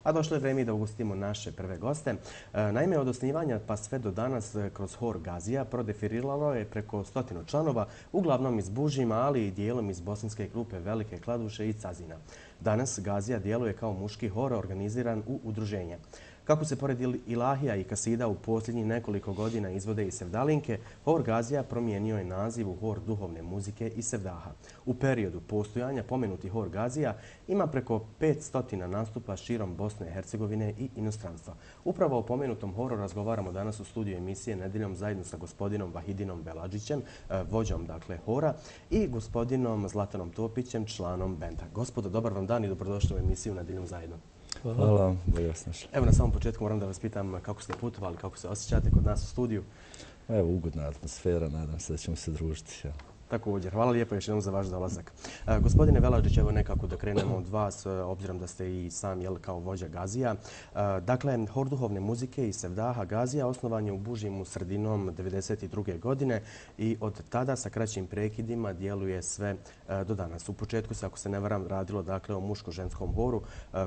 A došlo je vrijeme da ugostimo naše prve goste. Naime, od osnivanja pa sve do danas kroz hor Gazija prodefiliralo je preko 100 članova, uglavnom iz Bužima, ali i dijelom iz bosanske grupe Velike Kladuše i Cazina. Danas Gazija djeluje kao muški hor organiziran u udruženje. Kako se pored ilahija i kasida u posljednjih nekoliko godina izvode i sevdalinke, hor Gazija promijenio je naziv u hor duhovne muzike i sevdaha. U periodu postojanja pomenuti hor Gazija ima preko 500 nastupa širom Bosne i Hercegovine i inostranstva. Upravo o pomenutom horu razgovaramo danas u studiju emisije Nedjeljom zajedno sa gospodinom Vahidinom Beladžićem, vođom hora, i gospodinom Zlatanom Topićem, članom benda. Gospodo, dobar vam dan i dobrodošli u emisiju Nedjeljom zajedno. Hvala vam, bolje vas našli. Evo, na samom početku moram da vas pitam kako ste putovali, kako se osjećate kod nas u studiju. Evo, ugodna atmosfera, nadam se da ćemo se družiti. Također, hvala lijepo još jednom za vaš dolazak. Gospodine Beladžić, evo nekako da krenemo od vas, obzirom da ste i sam kao vođa Gazija. Dakle, hor duhovne muzike i sevdaha Gazija osnovan je u Bužimu sredinom 1992. godine i od tada sa kraćim prekidima djeluje sve do danas. U početku se, ako se ne varam, radilo o muško-ženskom horu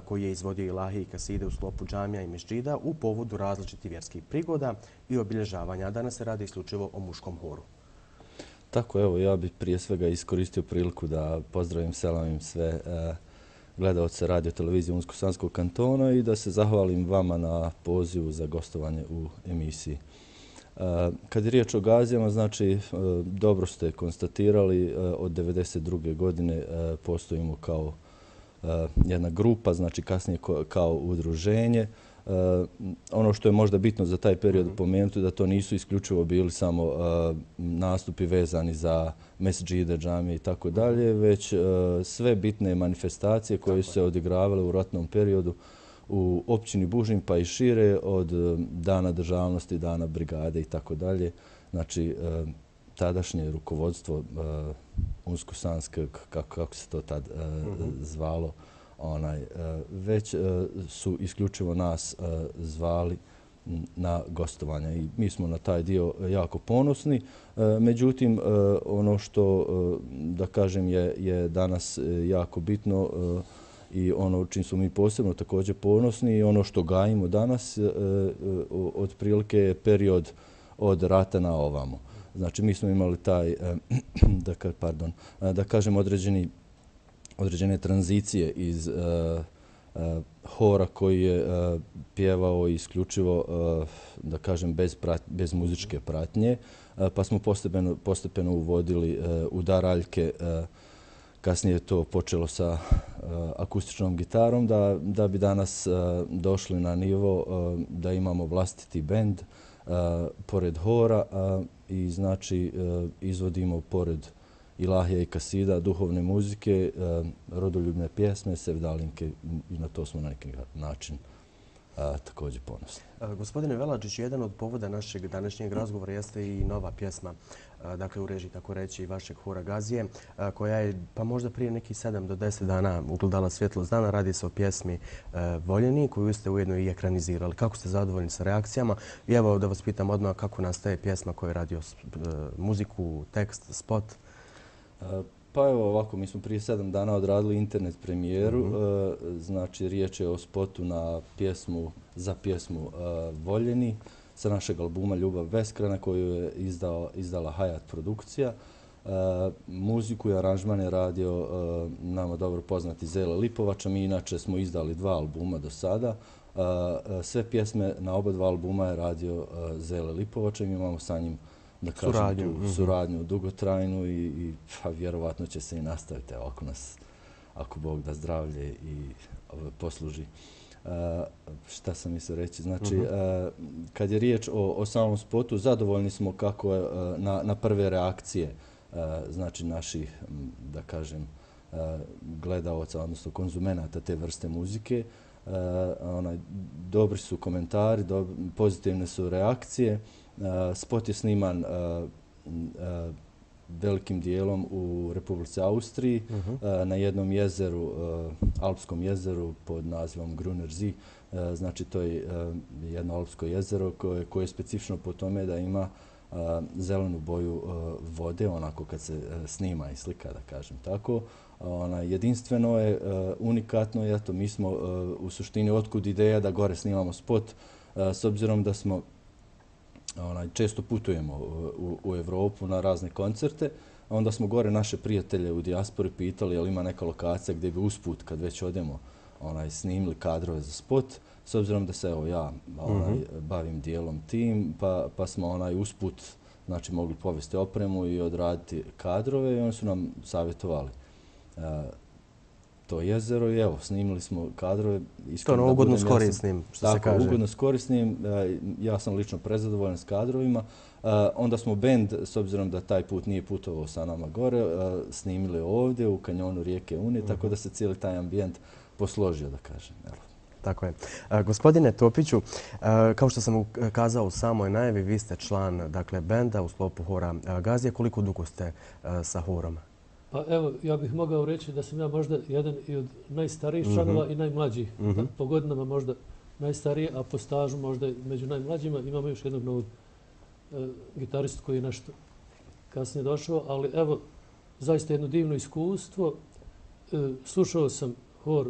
koji je izvodio ilahije i kaside u sklopu džamija i mesdžida u povodu različitih vjerskih prigoda i obilježavanja. A danas se radi isključivo o muškom horu. Tako, evo, ja bih prije svega iskoristio priliku da pozdravim, selamim sve gledaoce radio televizije Unsko-Sanskog kantona i da se zahvalim vama na pozivu za gostovanje u emisiji. Kad je riječ o Gazijama, znači, dobro ste konstatirali, od 1992. godine postojimo kao jedna grupa, znači kasnije kao udruženje. Ono što je možda bitno za taj period pomenuti da to nisu isključivo bili samo nastupi vezani za mesdžide, džamije i tako dalje, već sve bitne manifestacije koje su se odigravale u ratnom periodu u općini Bužim pa i šire, od dana državnosti, dana brigade i tako dalje. Znači, tadašnje rukovodstvo Unsko-Sanskog, kako se to tad zvalo, već su isključivo nas zvali na gostovanja i mi smo na taj dio jako ponosni. Međutim, ono što, da kažem, je danas jako bitno i ono čim smo mi posebno također ponosni i ono što gajimo danas otprilike je period od rata na ovamo. Znači, mi smo imali taj, da kažem, određene tranzicije iz hora koji je pjevao isključivo, da kažem, bez muzičke pratnje, pa smo postepeno uvodili udaraljke. Kasnije je to počelo sa akustičnom gitarom, da bi danas došli na nivo da imamo vlastiti bend pored hora i znači izvodimo pored ilahija i kasida, duhovne muzike, rodoljubne pjesme, sevdalinke i na to smo na neki način također ponosni. Gospodine Beladžić, jedan od povoda našeg današnjeg razgovora jeste i nova pjesma, dakle u režiji, tako reći, vašeg hora Gazije, koja je pa možda prije nekih 7 do 10 dana ugledala svjetlost dana. Radi se o pjesmi Voljeni, koju ste ujedno i ekranizirali. Kako ste zadovoljni sa reakcijama? I evo da vas pitam odmah kako nastaje pjesma koja je radio muziku, tekst, spot. Pa evo ovako, mi smo prije 7 dana odradili internet premijeru. Znači, riječ je o spotu na pjesmu, za pjesmu Voljeni sa našeg albuma Ljubav beskrajna koju je izdala Hayat produkcija. Muziku i aranžman je radio nama dobro poznati Zele Lipovača. Mi inače smo izdali 2 albuma do sada. Sve pjesme na oba 2 albuma je radio Zele Lipovača i mi imamo sa njim, da kažem, tu suradnju dugotrajnu i vjerovatno će se i nastaviti ako Bog da zdravlje i posluži. Šta sam mislio reći? Znači, kad je riječ o samom spotu, zadovoljni smo kako je na prve reakcije znači naših, da kažem, gledaoca, odnosno konzumenata te vrste muzike. Dobri su komentari, pozitivne su reakcije. Spot je sniman velikim dijelom u Republici Austriji na jednom jezeru, alpskom jezeru pod nazivom Gruner See. Znači, to je jedno alpsko jezero koje je specifično po tome da ima zelenu boju vode, onako kad se snima i slika, da kažem tako. Jedinstveno je, unikatno je, eto, mi smo u suštini otkud ideja da gore snimamo spot, s obzirom da smo često putujemo u Evropu na razne koncerte, onda smo gore naše prijatelje u dijaspori pitali je li ima neka lokacija gdje bi usput, kad već odemo, snimili kadrove za spot, s obzirom da se evo ja bavim dijelom tim, pa smo usput znači mogli povesti opremu i odraditi kadrove i oni su nam savjetovali to jezero i evo, snimili smo kadrove. To je ugodno s korisnim, što se kaže. Tako, ugodno s korisnim. Ja sam lično prezadovoljan s kadrovima. Onda smo bend, s obzirom da taj put nije putovao sa nama gore, snimili ovdje u kanjonu rijeke Une, tako da se cijeli taj ambijent posložio, da kažem. Tako je. Gospodine Topiću, kao što sam kazao u samoj najavi, vi ste član benda u sklopu hora Gazija. Koliko dugo ste sa horom? Pa evo, ja bih mogao reći da sam ja možda jedan i od najstarijih članova i najmlađih. Po godinama možda najstariji, a po stažu možda među najmlađima. Imamo još jednog novog gitaristu koji je nešto kasnije došao, ali evo, zaista jedno divno iskustvo. Slušao sam hor,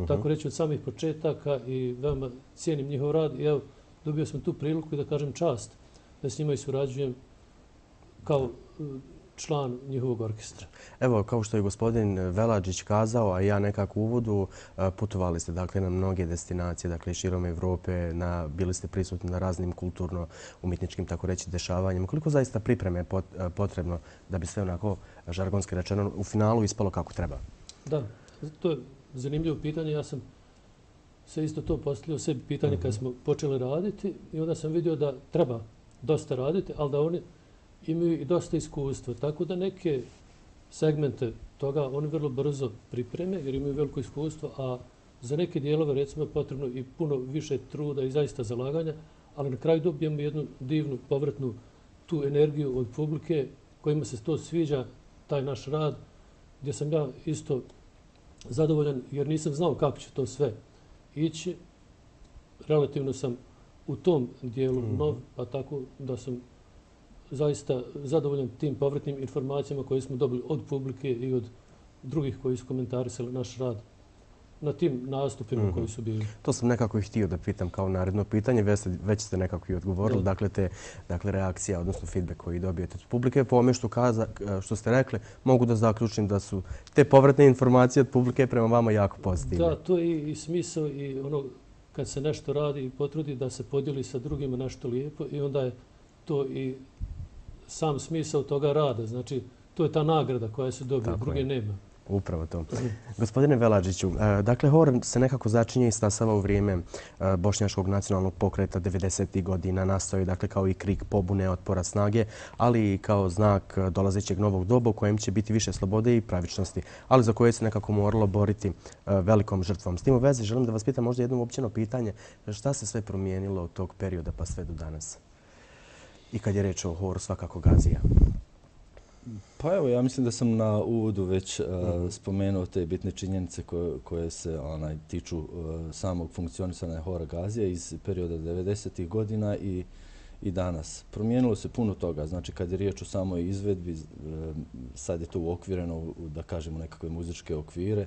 tako reći, od samih početaka i veoma cijenim njihov rad i evo, dobio sam tu priliku i da kažem čast da s njima i surađujem kao član njihovog orkestra. Evo, kao što je gospodin Veladžić kazao, a ja nekako u uvodu, putovali ste na mnoge destinacije, širom Evrope, bili ste prisutni na raznim kulturno-umjetničkim, tako reći, dešavanjima. Koliko zaista pripreme je potrebno da bi sve onako žargonski rečeno u finalu ispalo kako treba? Da, to je zanimljivo pitanje. Ja sam se isto to postavljao sebi pitanje kad smo počeli raditi i onda sam vidio da treba dosta raditi, ali da oni imaju i dosta iskustva. Tako da neke segmente toga oni vrlo brzo pripreme jer imaju veliko iskustvo, a za neke dijelove recimo je potrebno i puno više truda i zaista zalaganja, ali na kraju dobijemo jednu divnu povratnu tu energiju od publike kojima se to sviđa, taj naš rad, gdje sam ja isto zadovoljan jer nisam znao kako će to sve ići. Relativno sam u tom dijelu nov, pa tako da sam zaista zadovoljan tim povratnim informacijama koje smo dobili od publike i od drugih koji su komentarisali naš rad na tim nastupima koji su bili. To sam nekako i htio da pitam kao naredno pitanje, već ste nekako i odgovorili. Dakle, reakcija, odnosno feedback koji dobijete od publike. Po ome što ste rekli, mogu da zaključim da su te povratne informacije od publike prema vama jako pozitivne. Da, to je i smisao i ono kad se nešto radi i potrudi da se podijeli sa drugima nešto lijepo i onda je to i sam smisao toga rada. Znači, to je ta nagrada koja se dobije, druge nema. Upravo to. Gospodine Veladžiću, dakle, hor se nekako začinje i stasava u vrijeme Bošnjačkog nacionalnog pokreta 90. godina. Nastao je, dakle, kao i krik pobune, otpora, snage, ali i kao znak dolazećeg novog doba u kojem će biti više slobode i pravičnosti, ali za koje se nekako moralo boriti velikom žrtvom. S tim u vezi želim da vas pitam možda jedno uopćeno pitanje. Šta se sve promijenilo od tog perioda pa sve do danas? I kad je reč o horu, svakako Gazija. Pa evo, ja mislim da sam na uvodu već spomenuo te bitne činjenice koje se tiču samog funkcionisanja hora Gazija iz perioda 90. godina i danas. Promijenilo se puno toga. Znači, kad je riječ o samoj izvedbi, sad je to uokvireno, da kažemo, nekakve muzičke okvire.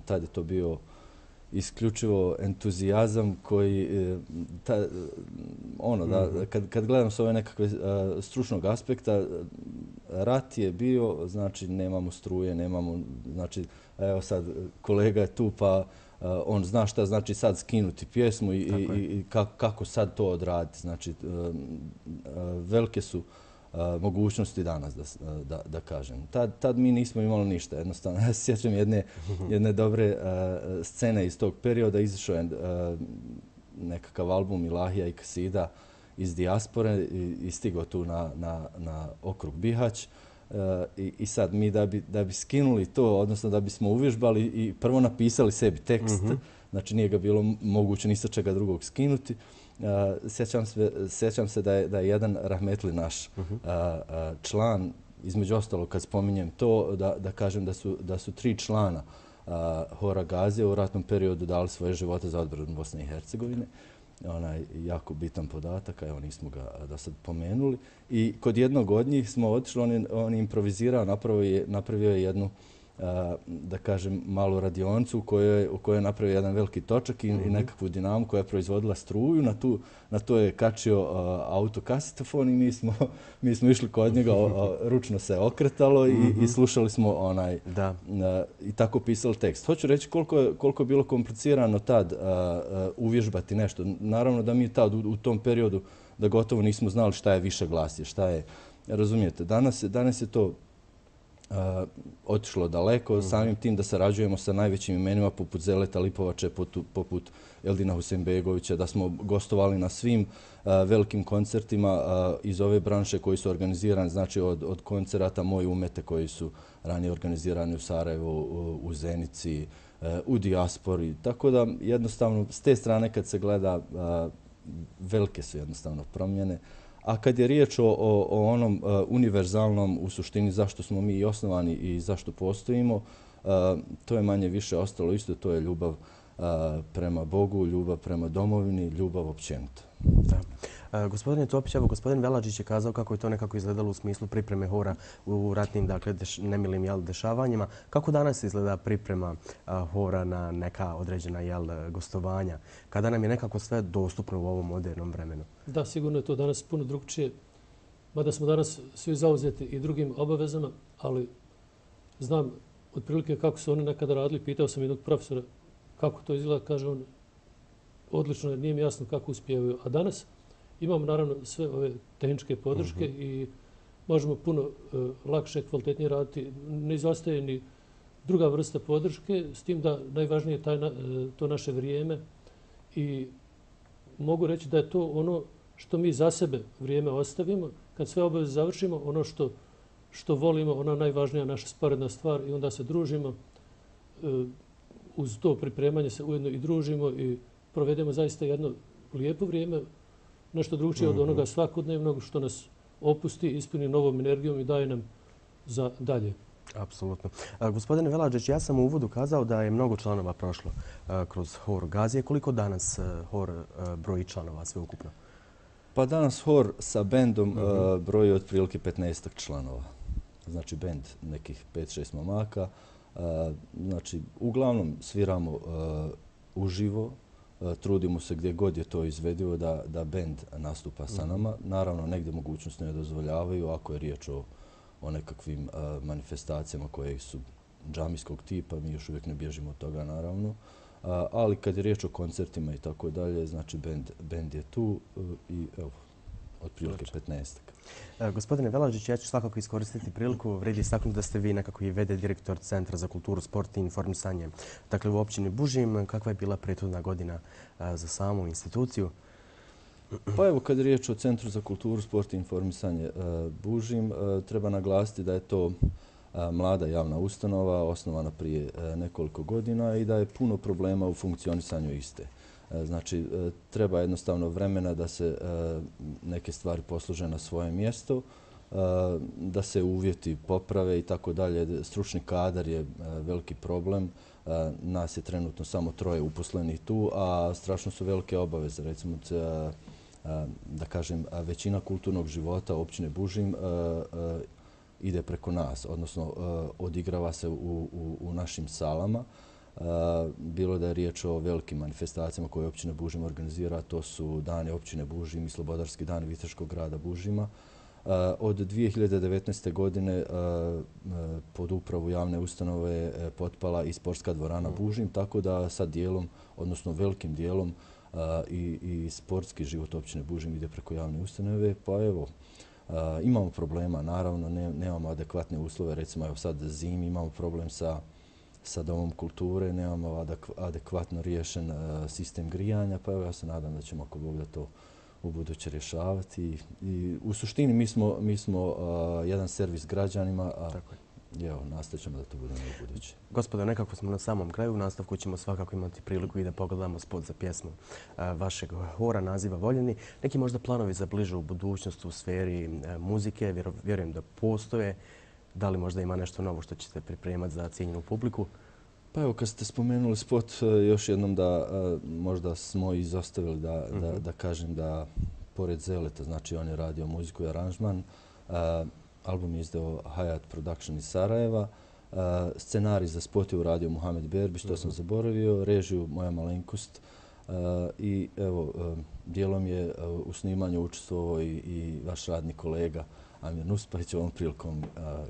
Tad je to bio isključivo entuzijazam koji, kad gledam s ove nekakve stručnog aspekta, rat je bio, znači nemamo struje, nemamo, znači evo sad kolega je tu pa on zna šta znači sad skinuti pjesmu i kako sad to odraditi. Znači velike su mogućnosti danas, da kažem. Tad mi nismo imali ništa. Jednostavno, ja se sjećam jedne dobre scene iz tog perioda. Izašao je nekakav album Ilahija i Kasida iz dijaspore i stigao tu na okrug Bihać. I sad mi da bi skinuli to, odnosno da bismo uvježbali i prvo napisali sebi tekst, znači nije ga bilo moguće ni sa čega drugog skinuti. Sjećam se da je jedan rahmetli naš član, između ostalo kad spominjem to, da kažem da su 3 člana hora Gazija u ratnom periodu dali svoje živote za odbranu Bosne i Hercegovine. jako bitan podatak, a evo nismo ga do sad pomenuli. I kod jednog od njih smo otišli, on je improvizirao, napravio je jednu, da kažem, malu radionicu u kojoj je napravio jedan veliki točak i nekakvu dinamu koja je proizvodila struju. Na to je kačio autokasetofon i mi smo išli kod njega, ručno se okretalo i slušali smo i tako pisali tekst. Hoću reći koliko je bilo komplicirano tad uvježbati nešto. Naravno da mi tad u tom periodu da gotovo nismo znali šta je više glasje, šta je, razumijete, danas je to otišlo daleko, samim tim da sarađujemo sa najvećim imenima poput Zeleta Lipovače, poput Eldina Husein-begovića, da smo gostovali na svim velikim koncertima iz ove branše koji su organizirani, znači od koncerata Moj umete koji su ranije organizirani u Sarajevu, u Zenici, u dijaspori. Tako da jednostavno s te strane kad se gleda velike su jednostavno promjene. A kad je riječ o onom univerzalnom, u suštini zašto smo mi i osnovani i zašto postojimo, to je manje više ostalo isto, to je ljubav prema Bogu, ljubav prema domovini, ljubav općenito. Gospodine Topić, evo gospodin Veladžić je kazao kako je to nekako izgledalo u smislu pripreme hora u ratnim, dakle, nemilim dešavanjima. Kako danas izgleda priprema hora na neka određena gostovanja, kada nam je nekako sve dostupno u ovom modernom vremenu? Da, sigurno je to danas puno drugčije, mada smo danas svi zauzeti i drugim obavezama, ali znam otprilike kako su oni nekada radili. Pitao sam jednog profesora kako to izgleda, kaže on, odlično, nije mi jasno kako uspijevaju. A danas imamo naravno sve ove tehničke podrške i možemo puno lakše, kvalitetnije raditi. Ne izostaje ni druga vrsta podrške, s tim da najvažnije je to naše vrijeme i mogu reći da je to ono što mi za sebe vrijeme ostavimo. Kad sve obaveze završimo, ono što volimo, ona najvažnija naša sporedna stvar i onda se družimo. Uz to pripremanje se ujedno i družimo i provedemo zaista jedno lijepo vrijeme, nešto drugčije od onoga svakodnevnog što nas opusti, ispuni novom energijom i daje nam za dalje. Apsolutno. Gospodine Veladžić, ja sam u uvodu kazao da je mnogo članova prošlo kroz hor Gazije. Koliko danas hor broji članova sveukupno? Pa danas hor sa bendom broji otprilike 15 članova. Znači bend nekih 5-6 momaka. Znači, uglavnom sviramo uživo, trudimo se gdje god je to izvedivo da bend nastupa sa nama. Naravno, negdje mogućnosti ne dozvoljavaju ako je riječ o nekakvim manifestacijama koje su džamijskog tipa, mi još uvijek ne bježimo od toga, naravno. Ali kad je riječ o koncertima i tako dalje, znači bend je tu i evo, otprilike 15. Gospodine Veladžić, ja ću svakako iskoristiti priliku. Vredi istaknuti da ste vi nekako i VD direktor Centra za kulturu, sport i informisanje. Dakle, u općini Bužim, kakva je bila prethodna godina za samu instituciju? Pa evo, kad je riječ o Centru za kulturu, sport i informisanje Bužim, treba naglasiti da je to mlada javna ustanova, osnovana prije nekoliko godina i da je puno problema u funkcionisanju iste. Znači, treba jednostavno vremena da se neke stvari poslože na svoje mjesto, da se uvjeti poprave i tako dalje. Stručni kadar je veliki problem. Nas je trenutno samo 3 uposlenih tu, a strašno su velike obaveze. Recimo, da kažem, većina kulturnog života općine Bužim ide preko nas, odnosno odigrava se u našim salama. Bilo da je riječ o velikim manifestacijama koje općina Bužim organizira, to su Dani općine Bužim i Slobodarski dani Viteškog grada Bužima. Od 2019. godine pod upravu javne ustanove je potpala i sportska dvorana Bužim, tako da sad dijelom, odnosno velikim dijelom i sportski život općine Bužim ide preko javne ustanove. Pa evo, imamo problema, naravno, nemamo adekvatne uslove, recimo evo sad zimi imamo problem sa domom kulture, nemamo adekvatno riješen sistem grijanja, pa evo ja se nadam da ćemo ako Bog da to u buduće rješavati. I u suštini mi smo jedan servis građanima, a evo, nastavit ćemo da to budemo u buduće. Gospodo, nekako smo na samom kraju. U nastavku ćemo svakako imati priliku i da pogledamo spot za pjesmu vašeg hora naziva Voljeni. Neki možda planovi za bližu budućnost u sferi muzike, vjerujem da postoje. Da li možda ima nešto novo što ćete pripremati za cijenjenu publiku? Pa evo, kad ste spomenuli spot, još jednom da možda smo izostavili da kažem da pored Zeleta, znači on je radio muziku i aranžman, album je izdao Hayat Production iz Sarajeva, scenarij za spot je uradio Muhamed Berbić, to sam zaboravio, režiju moja malenkost i evo, dijelom je u snimanju učestvovao i vaš radni kolega Amir Nuspahić, ovom prilikom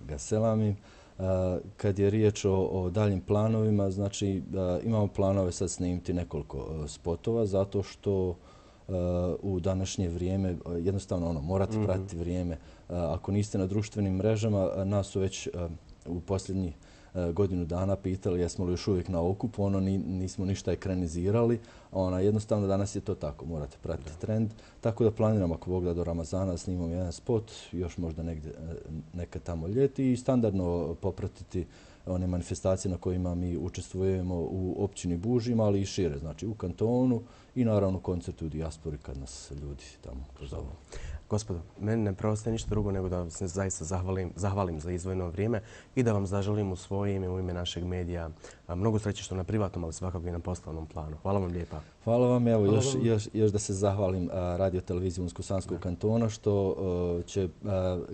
ga selamim. Kad je riječ o daljim planovima, znači imamo planove sad snimiti nekoliko spotova zato što u današnje vrijeme jednostavno morate pratiti vrijeme. Ako niste na društvenim mrežama, nas su već u posljednjih godinu dana pitali jesmo li još uvijek na okupu, nismo ništa ekranizirali. Jednostavno danas je to tako, morate pratiti trend. Tako da planiramo ako Bog da do Ramazana snimamo jedan spot, još možda nekad tamo ljeti i standardno popratiti one manifestacije na kojima mi učestvujemo u općini Bužima, ali i šire, znači u kantonu i naravno koncertu u dijaspori kad nas ljudi tamo pozovu. Gospodo, meni ne preostaje ništa drugo nego da vam se zaista zahvalim za izdvojeno vrijeme i da vam zaželim u svoje ime, u ime našeg medija mnogo sreće što na privatnom, ali svakako i na poslovnom planu. Hvala vam lijepa. Hvala vam. Evo, još da se zahvalim Radio televiziji Unsko-Sanskog kantona što će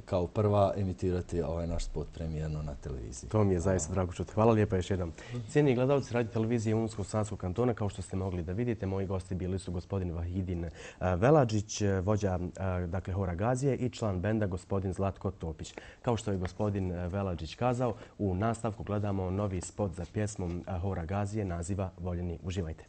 kao prva emitirati ovaj naš spot premijerno na televiziji. To mi je zaista drago čuti. Hvala lijepa još jednom. Cijenjeni gledalci Radio televizije Unsko-Sanskog kantona, kao što ste mogli da vidite, moji gosti bili su gospodin Vahidin Veladžić, vođa Hora Gazije i član benda gospodin Zlatko Topić. Kao što je gospodin Veladžić kazao, u nastavku gledamo novi spot za pjesmom Hora Gazije naziva Voljeni. Uživajte.